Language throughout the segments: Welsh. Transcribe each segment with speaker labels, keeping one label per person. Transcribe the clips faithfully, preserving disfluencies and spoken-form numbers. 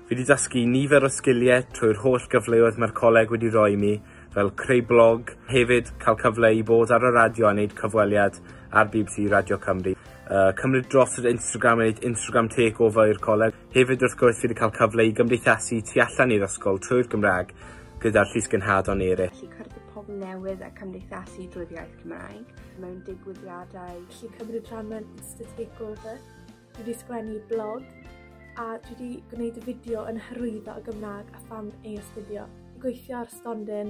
Speaker 1: Fi wedi dysgu nifer o sgiliau trwy'r holl gyfleoedd mae'r coleg wedi rhoi i mi, fel creu blog, hefyd cael cyfle i bod ar y radio a wneud cyfweliad ar B B C Radio Cymru. Uh, cymryd dros yr Instagram a wneud Instagram takeover i'r coleg. Hefyd wrth gwrs fi wedi cael cyfle i gymdeithasu tu allan i'r ysgol trwy'r Gymraeg gyda'r llysgenhadon eraill.
Speaker 2: Felly cwrdd â pobl newydd a cymdeithasu drwy'r iaith Cymraeg mewn digwyddiadau.
Speaker 3: Felly cymryd rhan mewn Insta takeover. Dwi wedi sgwennu blog a dwi wedi gwneud y fideo yn hyrwyddo y Gymraeg a pham ei astudio. Gweithio ar stondin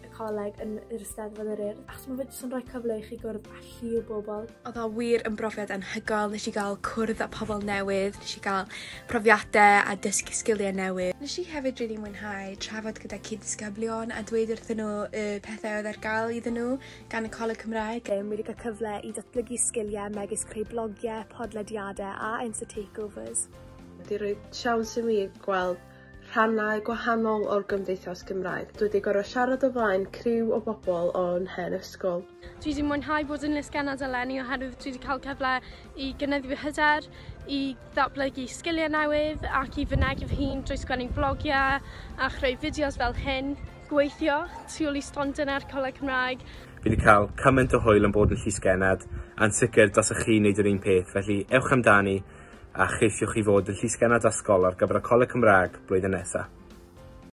Speaker 3: y coleg yn yr Eisteddfod yr Urdd, achos mae fe jyst yn rhoi cyfle i chi gwrdd â llu o bobl.
Speaker 4: Oedd o wir yn brofiad anhygoel, nes i gael cwrdd â pobl newydd, nes i gael profiadau a dysgu sgiliau newydd. Nes i hefyd rili mwynhau trafod gyda cyd-ddisgyblion a dweud wrthyn nhw y pethau oedd ar gael iddyn nhw gan y Coleg Cymraeg.
Speaker 3: Fi wedi cael cyfle i datblygu sgiliau megis creu blogiau, podlediadau a Insta takeovers.
Speaker 5: Wedi rhoi siawns i mi gweld rhannau gwahanol o'r gymdeithas Gymraeg. Dwi wedi gorfod siarad o flaen criw o bobl o'n hen ysgol.
Speaker 6: Dwi wedi mwynhau bod yn lysgennad eleni oherwydd dwi wedi cael cyfle i gynyddu fy hyder, i ddatblygu sgiliau newydd ac i fynegi fy hun drwy sgwennu blogiau a chreu fideos fel hyn. Gweithio tu ôl i stondin ar Coleg Cymraeg.
Speaker 1: Fi wedi cael cymaint o hwyl yn bod yn llysgennad, a'n sicr dylsech chi wneud yr un peth, felly ewch amdani a cheisiwch chi fod yn llysgennad ysgol ar gyfer y Coleg Cymraeg blwyddyn nesaf.